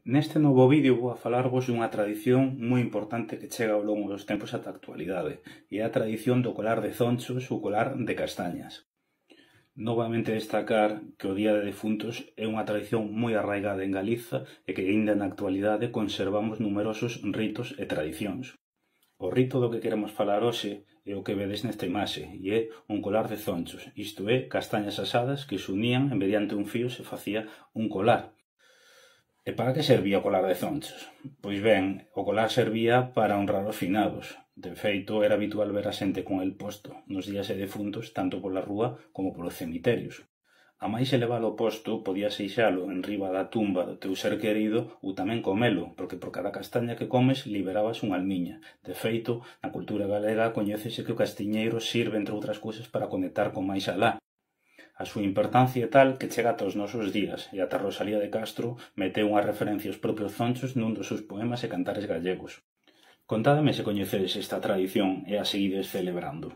Neste novo vídeo vou a falarvos dunha tradición moi importante que chega ao longo dos tempos ata a actualidade, e é a tradición do colar de zonchos ou colar de castañas. Novamente destacar que o Día de Defuntos é unha tradición moi arraigada en Galiza e que aínda na actualidade conservamos numerosos ritos e tradicións. O rito do que queremos falar hoxe é o que vedes nesta imaxe, e é un colar de zonchos, isto é, castañas asadas que se unían e mediante un fío se facía un colar. E para que servía o colar de zonchos? Pois ben, o colar servía para honrar os finados. De feito, era habitual ver a xente con el posto nos días de defuntos tanto pola rúa como polos cemiterios. A máis elevado posto, podías deixalo en riba da tumba do teu ser querido ou tamén comelo, porque por cada castaña que comes liberabas unha almiña. De feito, na cultura galega coñécese que o castiñeiro sirve, entre outras cousas, para conectar con máis alá. A súa importancia é tal que chega ata os nosos días, e ata Rosalía de Castro meteu unha referencia aos propios zonchos nun dos seus poemas e cantares gallegos. Contádeme se coñecedes esta tradición e a seguides celebrando.